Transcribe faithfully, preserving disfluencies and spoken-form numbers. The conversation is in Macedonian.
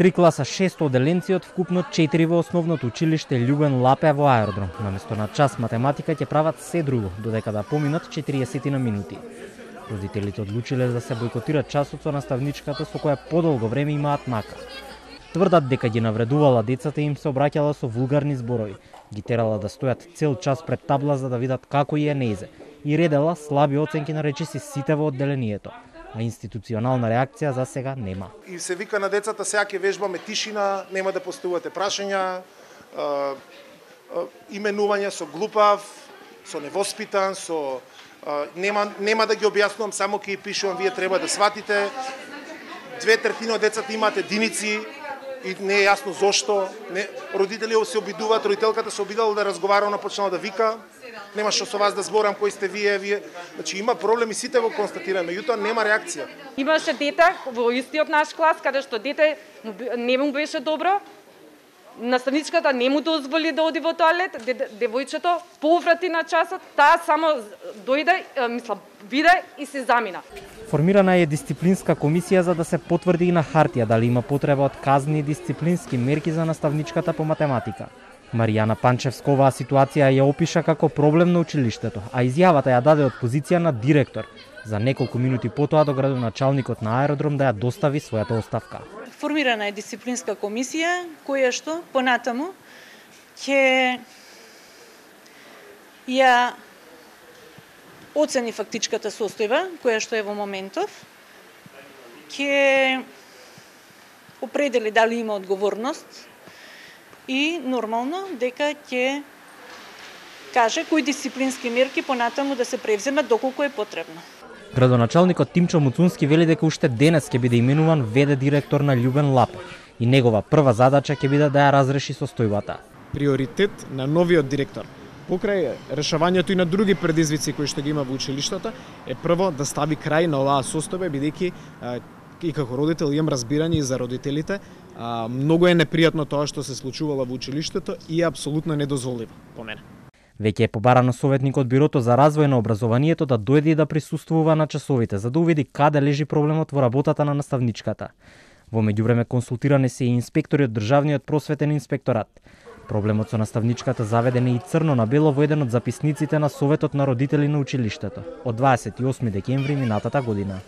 три класа шест оделенци од вкупно четири во основното училиште Љубен Лапе во Аеродром. Наместо на час математика ќе прават се друго, додека да поминат четириесет на минути. Родителите одлучиле да се бойкотира часот со наставничката со која подолго време имаат мака. Тврдат дека ги навредувала децата и им се обраќала со вулгарни зборови, ги терала да стојат цел час пред табла за да видат како и е неизе и редела слаби оценки на речиси сите во одделението. А институционална реакција за сега нема. И се вика на децата, сега ќе вежбаме тишина, нема да поставувате прашања, е, е, именување со глупав, со невоспитан, со е, нема нема да ги објаснувам, само ќе ги пишувам, вие треба да сватите. Две третини од децата имаат единици и не е јасно зошто. Не, родители се обидуваат, родителката се обидала да разговара, она почнала да вика. Нема што со вас да зборам кои сте вие, вие. Значи има проблеми, сите го констатираме, меѓутоа нема реакција. Имаше дете во истиот наш клас каде што дете не му беше добро. Наставничката не му дозволи да оди во тоалет, девојчето поврати на часот, таа само дојде, мислам, биде и се замина. Формирана е дисциплинска комисија за да се потврди и на хартија дали има потреба од казни и дисциплински мерки за наставничката по математика. Маријана Панчевска оваа ситуација ја опиша како проблем на училиштето, а изјавата ја даде од позиција на директор. За неколку минути потоа до градоначалникот на Аеродром да ја достави својата оставка. Формирана е дисциплинска комисија која што понатаму ќе ја оцени фактичката состојба која што е во моментов, ќе определи дали има одговорност и нормално дека ќе каже кои дисциплински мерки понатаму да се превземат доколку е потребно. Градоначалникот Тимчо Муцунски вели дека уште денес ќе биде именуван ве-де директор на Љубен Лапе и негова прва задача ќе биде да ја разреши состојбата. Приоритет на новиот директор покрај решавањето и на други предизвици кои што ги има во училиштата е прво да стави крај на оваа состојба, бидејќи и како родител имам разбирање и за родителите. А, многу е непријатно тоа што се случувало во училиштето и е апсолутно недозволиво по мене. Веќе е побарано советник од Бирото за развој на образованието да дојде и да присуствува на часовите, за да увиди каде лежи проблемот во работата на наставничката. Во меѓувреме консултирани се и инспектори од Државниот просветен инспекторат. Проблемот со наставничката заведен е и црно на бело во еден од записниците на Советот на родители на училиштето од дваесет и осми декември минатата година.